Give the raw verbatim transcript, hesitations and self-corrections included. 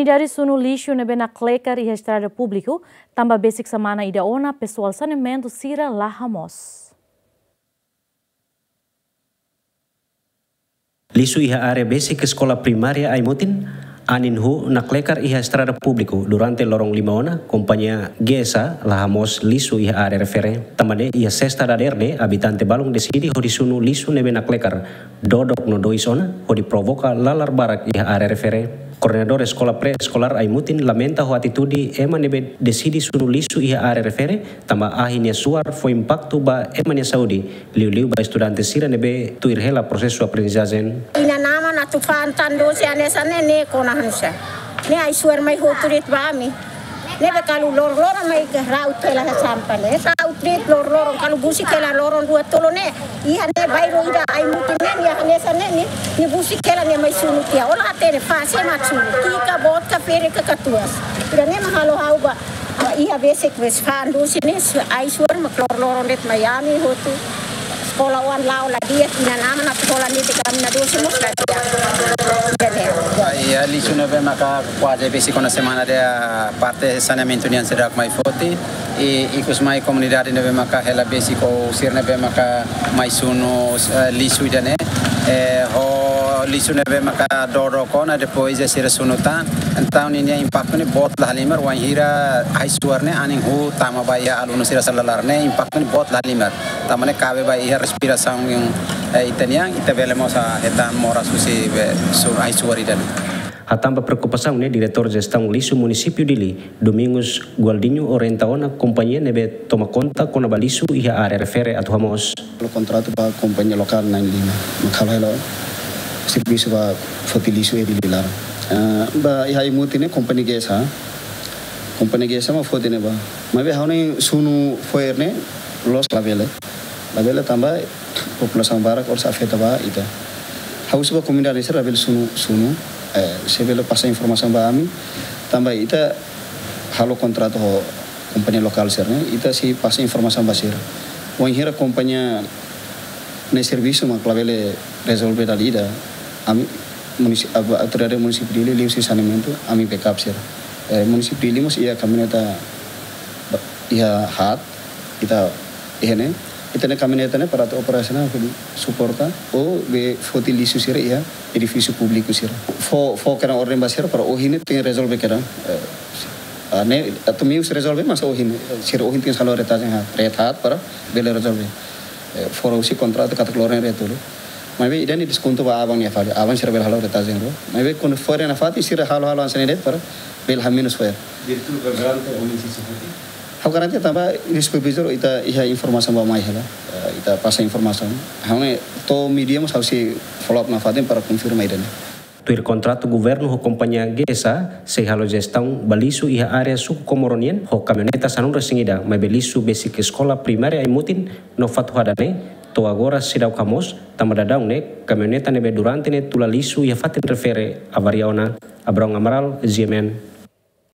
Komunidade sunu lixu ne'ebé naklekar iha estrada públiku, tanba besik semana ida ona pesoál saneamentu sira la hamoos. Lixu iha área besik eskola primária Aimutin, anin huu naklekar iha estrada públiku durante loron lima ona, kompañia G S A la hamoos lixu iha área refere. Tanba ne'e iha sesta dadeer ne'e, abitante balun deside hodi sunu lixu ne'ebé naklekar dodok no dois ona, hodi provoka lalar barak iha área refere. Koordenadór eskola pré-eskolár Aimutin lamenta ho atitude ema ne'ebé deside sunu lixu iha área refere, tanba ahi nia suar fó impaktu ba ema nia saúde, liuliu ba estudante sira ne'ebé tuir hela prosesu aprendizajen. Inan-aman atu fa'an tan dosi hanesan ne'e, ne'e kona hanusa. Ne'e ai-suar mai hotu de'it ba ami. Ne'ebé kalu loron-loron mai ra'ut hela sampah ne'e. Ra'ut de'it loron-loron, kalu busik hela loron rua tolu ne'e. Iha ne'e bairru ida Aimutin ne'e, nia hanesan ne'e, nia, nia busik hela nia mai sunu tiha. Ó la hatene fase mak sunu. Tika, boot ka, ferik ka, katuas. Ida-ne'e mak halo ha'u ba. Ah, iha besik, besik fa'an dosi ne'e, ai-suar mak loron-loron de'it mai ami hotu. Eskola oan la'o la di'ak, inan-aman atu hola netik ami-nia dosi mós la di'ak. Ida-ne'e. Ah, iha lixu ne'ebé maka kuaze besik ona semana ida parte saneamentu nian seidauk mai foti. I ikus mai komunidade ne'ebé maka hela besik ou sira ne'ebé maka mai sunu, eh, lixu ida-ne'e. Eh, ho lixu ne'ebé maka dodok ona, depois sira sunu tan. Entaun ninia impaktu ne'e boot la halimar, wainhira ai-suar ne'e anin huu tama ba iha alunu sira sira laran ne'e, impaktu ne'e boot la halimar. Tanba ne'e kabe ba iha respirasaun, eh, ita-nian, ita bele mós hetan moras husi be su-, ai-suar ida-ne'e. Hatán ba preokupasaun ne'e, Diretór Jestaun Lixu Munisípiu Dili, Domingos Gualdinho, orienta ona kompañia ne'ebé toma konta kona-ba lixu iha área refere atu hamoos. Halo kontratu ba kompañia lokál na'in-lima, mak halo hela servisu ba foti lixu iha Dili laran. Ah, ba iha Aimutin ne'e kompañia G S A. Kompañia G S A mak foti ne'ebá. Maibé ha'u-nia sunu fo'er ne'e loos, labele. Labele tanba populasaun barak oras afeta ba ita. Ha'u husu ba komunidade sira labele sunu, sunu, eh, se bele pasa informasaun ba ami. Tanba ita halo kontratu ho kompañia lokál sira-ne'e, ita sei pasa informasaun ba sira. Wainhira kompañia nia servisu mak labele rezolve dala ida, ami munisi-, aba-, autoridade munisípiu Dili, liuhusi saneamentu, ami backup sira. Eh, munisípiu Dili mós iha kamioneta ba-, iha haat, ita iha ne'e, ita-nia kamioneta ne'e para atu operasionál, hodi suporta ou be foti lixu sira iha edifísiu públiku sira. Fó, fó kedan orden ba sira para ohin ne'e tenke rezolve kedan. Eh, ah, ne'e, atu meius rezolve, mas ohin, sira ohin tenke halo retajen haat, ret haat para bele rezolve. Eh, fora husi kontratu katak loron retu. Maibé ida-ne'e deskontu ba aban nia fali, aban sira bele halo retajen rua. Maibé kuandu fo'er nafatin sira halo, halo hanesan ne'e de'it para bele hamenus fo'er. Diretór garante ohin sei foti? Ha'u garante tanba iha supervizór ita iha informasaun ba mai hela. Eh, ita pasa informasaun. Ha'u ne'e to'o media mós ha'u sei follow up nafatin para konfirma ida-ne'e. Tuir kontratu governu ho kompañia G S A, sei halo jestaun ba lixu iha área suku Comoro nian ho kamioneta sanulu-resin-ida, maibé lixu besik eskola primária Aimutin no Fatuhada ne'e to'o agora seidauk hamoos, tanba daudaun ne'e kamioneta ne'ebé durante ne'e tula lixu iha fatin refere avaria ona. Abraão Amaral, G M N.